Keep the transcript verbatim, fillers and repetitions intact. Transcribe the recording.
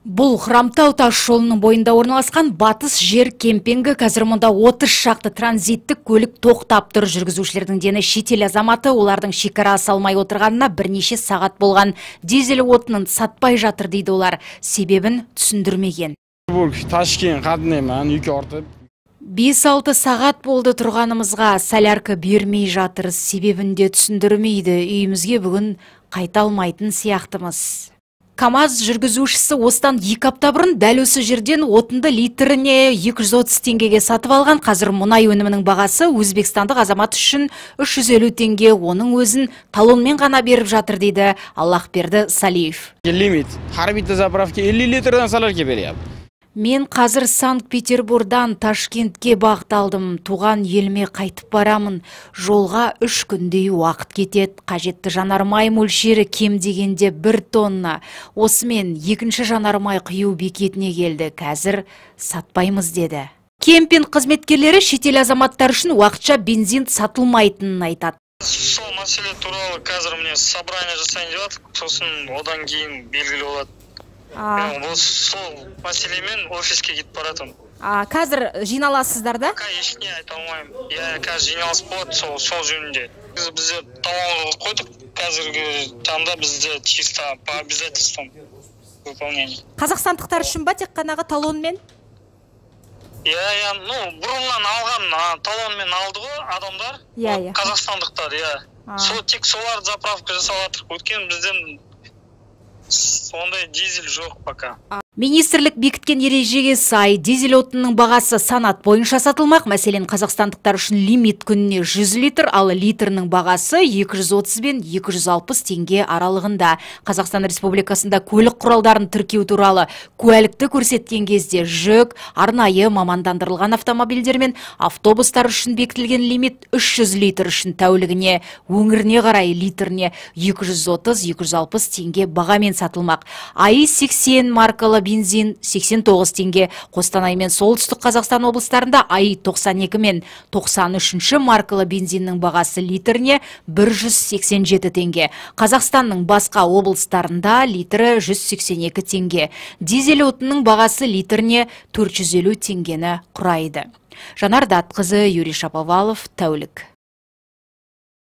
Бұл Хромтау тас жолының бойында орналасқан батыс жер кемпингі. Қазір мұнда отыз шақты транзиттік көлік тоқтап тұр. Жүргізушілердің дені шетел азаматы, олардың шекара салмай отырғанына бірнеше сағат болған. Дизель отынын сатпай жатыр дейді олар. Себебін түсіндірмеген. бес алты сағат болды тұрғанымызға, солярка бермей жатыр. Себебін де түсіндірмейді. Үйімізге бүгін қайта алмайтын сияқтымыз. КамАЗ жүргізушісі осыдан екі апта бұрын дәл осы жерден отынды литріне екі жүз отыз теңгеге сатып алған. Қазір мұнай өнімінің бағасы өзбекстандық азамат үшін үш жүз елу теңге, оның өзін талонмен ғана беріп жатыр дейді Аллахберді Салиев. Лимит. Харбита заправки elli litrдан солярка береді. Мен қазір Санкт-Петербургдан Ташкентке бағытталдым. Туған еліме қайтып барамын. Жолға үш күндей уақыт кетеді. Қажетті жанармай мөлшері кем дегенде бір тонна. Осымен екінші жанармай құю бекетіне келді. Қазір сатпаймыз деді. Кемпинг қызметкерлері шетел азаматтар үшін уақытша бензин сатылмайтынын айтады. Сол мәселе туралы қазір міне собрание жасайын деп жатыр. Сосын одан кейін белгілі болады. Сол мәселемен офиске кетіп баратым. Қазір жиналасыздар да? Ешне айта алмаймын. Я қазір жиналыс болады сол сол жөнінде. Біз бізде талон қойдық. Қазіргі таңда бізде чисто по обязательствам выполнение. Қазақстандықтар үшін ба тек қанағы талонмен? Я я ну бұрыннан алған талонмен алды ғой адамдар. Иә, иә. Қазақстандықтар, иә. Сол тек соларды заправка жасап жатыр. Өткен бізден сондай дизель жоқ пока. Министрлік бекіткен ережеге сай дизель отынның бағасы санат бойынша сатылмақ. Мәселен, қазақстандықтар үшін лимит күніне жүз литр, ал литрінің бағасы екі жүз отыз бен екі жүз алпыс теңге аралығында. Қазақстан Республикасында көлік құралдарын тіркеу туралы куәлікті көрсеткен кезде жүк, арнайы мамандандырылған автомобильдер мен автобустар үшін бекітілген лимит үш жүз литр үшін тәулігіне, өңіріне қарай литріне екі жүз отыз - екі жүз алпыс теңге бағамен сатылмақ. АИ сексен маркалы бензин сексен тоғыз теңге. Қостанай мен солтүстік Қазақстан облыстарында АИ тоқсан екі мен тоқсан үшінші маркалы бензиннің бағасы литріне бір жүз сексен жеті теңге. Қазақстанның басқа облыстарында литрі жүз сексен екі теңге. Дизель отынның бағасы литріне төрт жүз елу теңгені құрайды. Жанар Датқызы, Юрий Шаповалов, тәулік.